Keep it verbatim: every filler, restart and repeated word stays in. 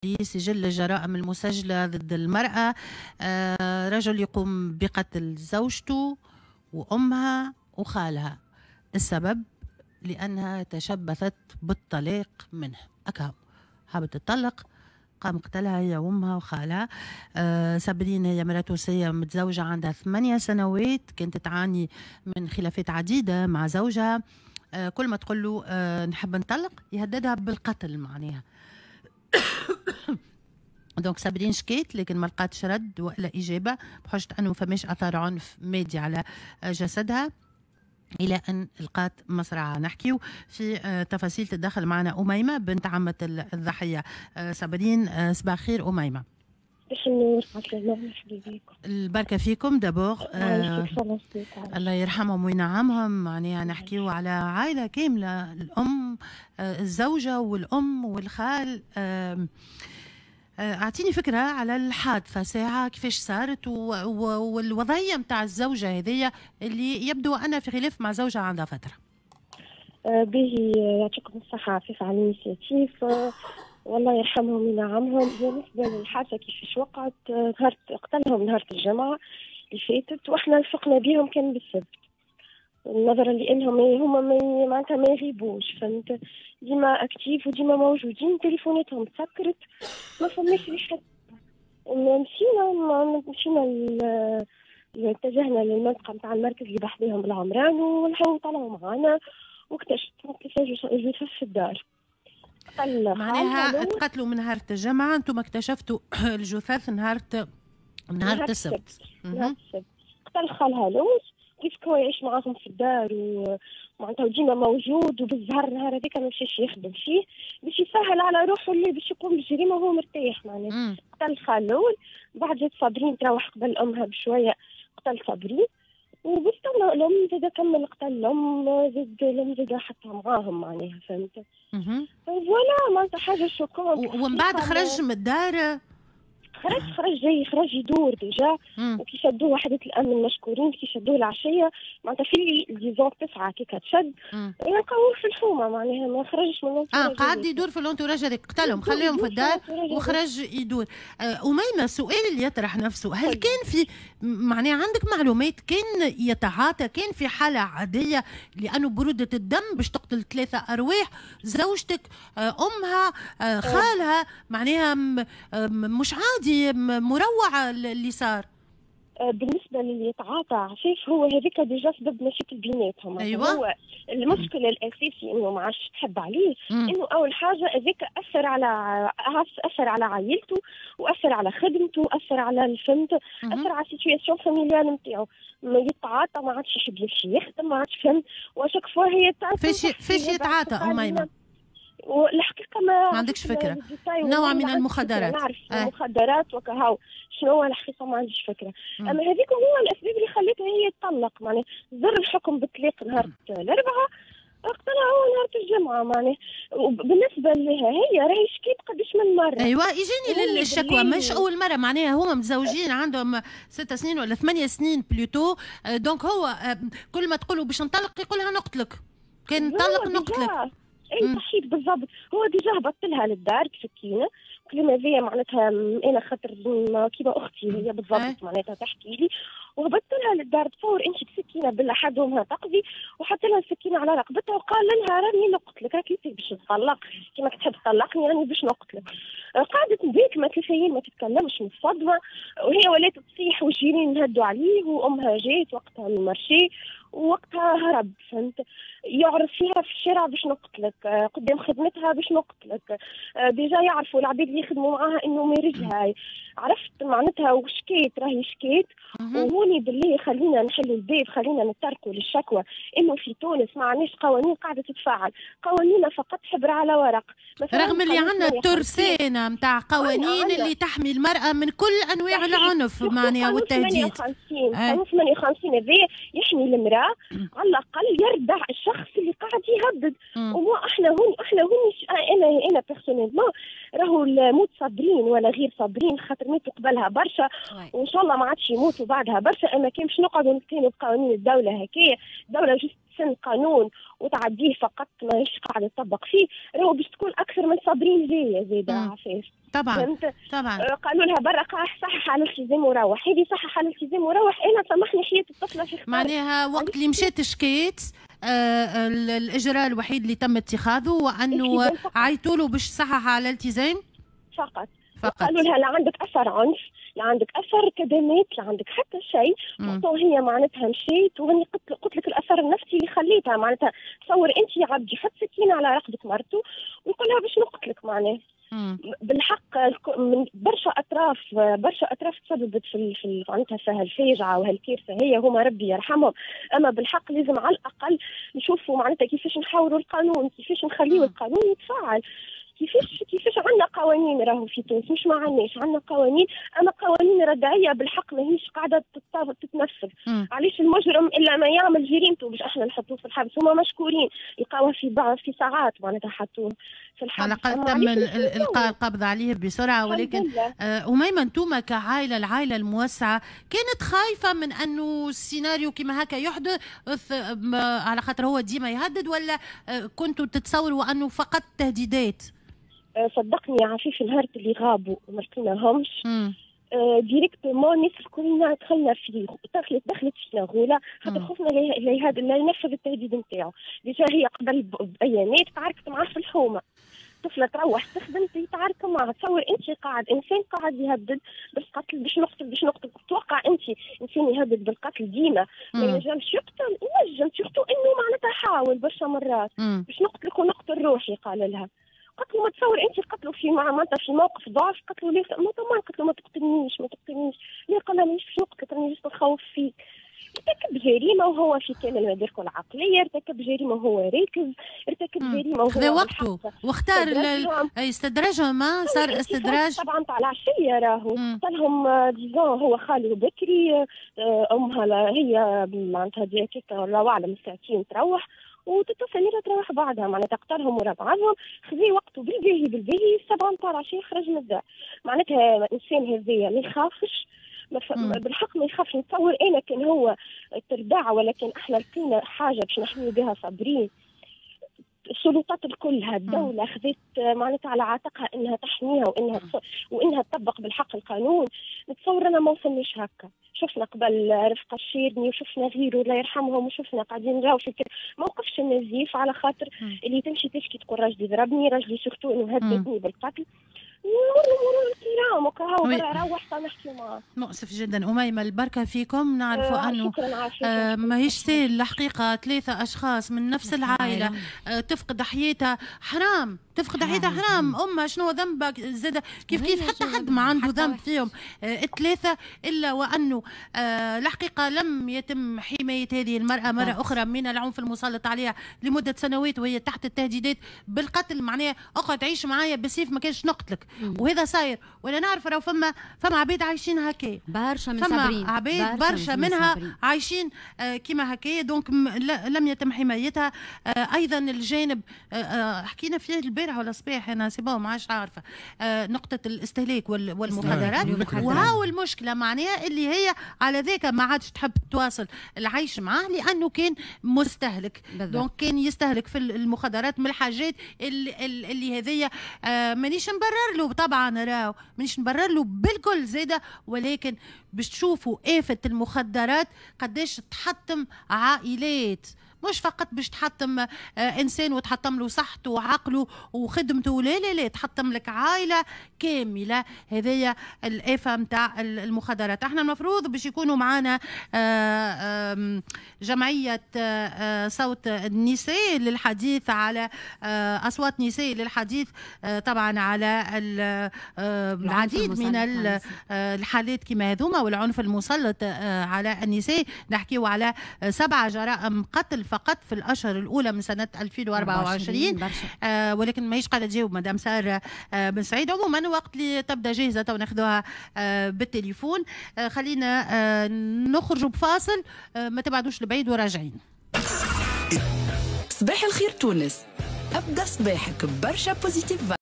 لسجل الجرائم المسجلة ضد المرأة. آه، رجل يقوم بقتل زوجته وأمها وخالها، السبب لأنها تشبثت بالطلاق منه. أكهو حابة تطلق، قام قتلها هي وامها وخالها. آه سابرين هي مرأة تونسية متزوجة عندها ثمانية سنوات، كانت تعاني من خلافات عديدة مع زوجها. آه كل ما تقول له آه نحب نطلق يهددها بالقتل معناها. donc سابرين شكيت لكن ما لقاتش رد ولا إجابة بحجة أنه فماش أثار عنف مادي على جسدها، الى ان لقات مصرعها. نحكيو في آه، تفاصيل تدخل معنا اميمة بنت عمه الضحية آه، صابرين. آه، صباح الخير اميمه. صباح النور، مرحبا بكم. البركة فيكم. d'abord آه الله يرحمهم وينعمهم. معناها نحكيو على عائلة كامله، الام آه الزوجة والام والخال. آه اعطيني فكرة على الحادثة ساعة كيفاش صارت والوضعيه نتاع الزوجة هذيا اللي يبدو ان في خلاف مع زوجها عندها فتره. آه، به يعطيكم الصحة عفيف على l'initiative، والله يرحمهم وينعمهم. بالنسبة للحادثه كيفاش وقعت، نهار قتلهم نهار الجمعة اللي فاتت، واحنا فقنا بهم كان بالسبت، نظرا لانهم هما ما معناتها ما يغيبوش، فهمت، ديما actifs وديما موجودين، تليفوناتهم تسكرت، ما فماش ريحه. مشينا مشينا اتجهنا للمنطقة نتاع المركز اللي بحذاهم العمران، والحو طلعوا معانا واكتشفنا كيفاش جثث في الدار. معناها تقتلوا من نهار الجمعة، انتم اكتشفتوا الجثث نهار نهار السبت. نهار السبت قتل خالها الاول، كيف هو يعيش معاهم في الدار ومعناتها ديما موجود، وبالزهر النهار هذاك ما مشاش يخدم فيه باش يسهل على روحه اللي باش يقوم بالجريمة وهو مرتاح معناها. قتل الخال الاول، بعد جات صابرين تروح قبل امها بشويه، قتل صابرين وبستنى الام زاد كمل قتل الام، زاد الام زاد حطها معاهم معناها، فهمت؟ voilà معناتها حاجة choquante. ومن بعد خرج من الدار؟ خرج خرج جاي خرج يدور déjà، وكي شدوه وحدة الامن المشكورين، كي شدوه العشية معناتها في disons تسعة كي كتشد يلقاوه في الحومه، معناها ما خرجش من اه قعد يدور في l'entourage هذاك، قتلهم خليهم في الدار وخرج يدور. آه أميمة، السؤال اللي يطرح نفسه، هل كان في معناها عندك معلومات كان يتعاطى، كان في حاله عادية؟ لانه برودة الدم باش تقتل ثلاثة ارواح، زوجتك، آه امها، آه خالها، معناها مش عادي، مروعة اللي صار. آه، بالنسبة للي يتعاطى عفيف، هو هذيك déjà سبب مشاكل بيناتهم. أيوة. هو المشكل الاساسي انه ما عادش تحب عليه، انه اول حاجة هذاك اثر على اثر على عائلته واثر على خدمته واثر على الفهمت، اثر على ال situation familiale نتاعو. ما يتعاطى ما عادش يحب يمشي يخدم، ما عادش فهمت، و à chaque fois هي فاش فاش يتعاطى اميمه؟ والحقيقة ما ما عندكش فكره؟ نوع من المخدرات؟ نعرف آه. المخدرات وكهو، شنو هو الحقيقة ما عنديش فكره. مم. اما هذيك هو الاسباب اللي خلتها هي تطلق، معناها صدر الحكم بالطلاق نهار الاربعاء، قتلها هو نهار الجمعة معناها. وبالنسبة لها هي راهي شكيت قداش من مره. ايوه، يجيني للشكوى، مش اول مره، معناها هما متزوجين عندهم ست سنين ولا ثمانية سنين plutôt، donc هو آه، كل ما تقولوا باش نطلق يقولها نقتلك، كان نطلق نقتلك. اي صحيت بالضبط، هو déjà هبط لها للدار بسكينه، كلمة هذيا معناتها انا خاطر كيما اختي هي بالضبط معناتها تحكي لي، وهبطت لها للدار، تصور انت، بسكينة بالحد وامها تقضي، وحط لها السكينة على رقبتها وقال لها راني نقتلك، راك انت باش تطلق كيما تحب تطلقني راني باش نقتلك. قعدت بيك ما ثلاث ما تتكلمش من الصدمه، وهي ولات تصيح والجيران نهدوا عليه، وامها جات وقتها من ال marché، ووقتها هرب، فهمت، يعرف فيها في الشارع باش نقتلك، قدام خدمتها باش نقتلك، déjà يعرفوا العباد اللي يخدموا معاها انه مارجها، عرفت معناتها، وشكيت راهي شكيت. وهوني بالله خلينا نحلوا الباب، خلينا نتركوا للشكوى انه في تونس ما عندناش قوانين قاعدة تتفعل، قوانيننا فقط حبر على ورق. رغم اللي عندنا ترسانه نتاع قوانين اللي تحمي المراة من كل انواع العنف معناها والتهديد. قانون ثمانية وخمسين هذا يحمي المراة على الاقل يردع الشخص اللي قاعد يهدد. ومو احنا هون احنا هون انا انا personnellement راهو الموت صابرين ولا غير صابرين، خاطر ماتوا قبلها برشا وان شاء الله ما عادش يموتوا بعدها برشا. اما كان باش نقعدوا نتكلموا بقوانين الدولة هكايا، الدولة juste تسن قانون وتعديه فقط ماهيش قاعدة تطبق فيه، راهو باش تكون اكثر من صابرين جاية زاده عفاف. طبعا طبعا. قالوا لها برا صحح على الالتزام وروح، هذه صحح على الالتزام وروح. انا سامحني حياة الطفلة في خطر. معناها وقت اللي مشات شكيت آه الاجراء الوحيد اللي تم اتخاذه هو انه عيطوا له باش صحح على الالتزام فقط. فقط. قالوا لها لا عندك اثر عنف، لا عندك اثر كدمات، لا عندك حتى شيء. هي معناتها مشيت وهني قلت قلت لك الاثر النفسي اللي خليتها معناتها. تصور انت يا عبد يحط سكينة على رقبة مرته ويقول لها باش نقتلك معناها. بالحق من برشا اطراف، برشا اطراف تسببت في في معناتها في هالفاجعه وهالكارثه هي، هما ربي يرحمهم. اما بالحق لازم على الاقل نشوفوا معناتها كيفاش نحاوروا القانون، كيفاش نخليوا القانون يتفاعل، كيفاش كيفاش عندنا قوانين راهو في تونس، مش ما عندناش، عندنا قوانين، اما قوانين ردعيه بالحق ماهيش قاعدة تتنفذ. علاش المجرم الا ما يعمل جريمته باش احنا نحطوه في الحبس؟ هما مشكورين لقاوه في بعض في ساعات معناتها حطوه في الحبس، على الاقل تم القاء القبض عليه بسرعة. ولكن آه أميمة انتم كعائله، العائلة الموسعه كانت خايفة من انه السيناريو كما هكا يحدث على خاطر هو ديما يهدد، ولا كنتوا تتصوروا انه فقط تهديدات؟ صدقني يا عفيف نهار اللي غابوا وما لقيناهمش آه directement الناس الكلنا دخلنا في دخلت دخلت فينا غوله، خاطر خفنا لا لا ينفذ التهديد نتاعو. déjà هي قبل بايامات تعاركت معاه في الحومه، طفله تروح تخدم تتعارك معها. تصور انت قاعد انسان قاعد يهدد بالقتل، باش نقتل باش نقتل، تتوقع انت انسان يهدد بالقتل ديما ما ينجمش يقتل؟ ينجم، surtout انه معناتها حاول برشا مرات باش نقتلك ونقتل روحي قال لها. قتلوا ما تصور انت قتلوا في معناتها في موقف ضعف، قتلوا ليه ما طبعا قتلوا ما تقتلنيش ما تقتلنيش، ليه؟ قال لها مانيش باش نقتلك راني juste نخوف فيك. ارتكب جريمة وهو في كامل مداركه العقلية، ارتكب جريمة وهو راكز، ارتكب جريمة وهو خذا وقته واختار استدراجهم. ما صار استدراج طبعا تاع العشية راهو قتلهم disons هو خالي بكري، امها هي معناتها ديكيك الله اعلم ساعتين تروح وتتصل تروح بعدها معناتها قتلهم ورا بعضهم. خذي وقته بالباهي بالباهي السبعة نتاع العشية خرج من الدار. معناتها الانسان هذايا ما يخافش، بالحق ما يخافش. نتصور انا كان هو تردع ولا كان احنا لقينا حاجة باش نحميو بها صابرين، السلطات الكلها الدولة خذت معناتها على عاتقها انها تحميها وانها وانها تطبق بالحق القانون. نتصور انا ما وصلناش هكا. شفنا قبل رفقه الشيرني وشفنا غيره الله يرحمهم، وشفنا قاعدين نراو في ما وقفش النزيف على خاطر اللي تمشي تشكي تقول راجلي ضربني، راجلي surtout انه هددني بالقتل. مرور الكرام وكهو برا روح نحكي معاه. مؤسف جدا أميمة، البركة فيكم. نعرفوا آه أنه آه ماهيش سهل الحقيقة، ثلاثة أشخاص من نفس العائلة آه تفقد حياتها، حرام تفقد حياتها حرام. أمها شنو ذنبها زاد كيف كيف حتى حد ما عنده ذنب فيهم آه الثلاثة، إلا وأنه آه الحقيقة لم يتم حماية هذه المرأة مرة أخرى من العنف المسلط عليها لمدة سنوات وهي تحت التهديدات بالقتل. معناها اقعد عيش معايا بالسيف ما كانش نقتلك، وهذا صاير. ولا نعرف راهو فما فما عباد عايشين هكا، برشا من صابرين، عباد برشا منها صابرين. عايشين آه كيما هكا، donc لم يتم حمايتها. آه ايضا الجانب آه آه حكينا فيه البارح ولا الصباح انا c'est bon ما عادش عارفه، آه نقطة الاستهلاك والمخدرات، وهاو المشكلة معناها اللي هي على ذاك ما عادش تحب تواصل العيش معاه لانه كان مستهلك، donc كان يستهلك في المخدرات من الحاجات اللي, اللي هذيا. آه مانيش نبرر له طبعا، راهو مانيش نبرر له بالكل زاده، ولكن باش تشوفوا آفة المخدرات قداش تحطم عائلات، مش فقط باش تحطم آه انسان وتحطم له صحته وعقله وخدمته، لا لا لا، تحطم لك عائلة كاملة. هذيا الافة نتاع المخدرات. احنا المفروض باش يكونوا معنا آه جمعية آه صوت النساء للحديث على آه اصوات نساء للحديث آه طبعا على العديد من الحالات كما هذوما والعنف المسلط آه على النساء. نحكيو على سبعة جرائم قتل فقط في الاشهر الاولى من سنة ألفين وأربعة وعشرين، آه ولكن ماهيش قاعدة تجاوب مدام ساره آه بن سعيد. عموما وقت اللي تبدا جاهزة تو ناخذوها آه بالتليفون. آه خلينا آه نخرجوا بفاصل، آه ما تبعدوش لبعيد وراجعين. صباح الخير تونس، ابدا صباحك برشا positive.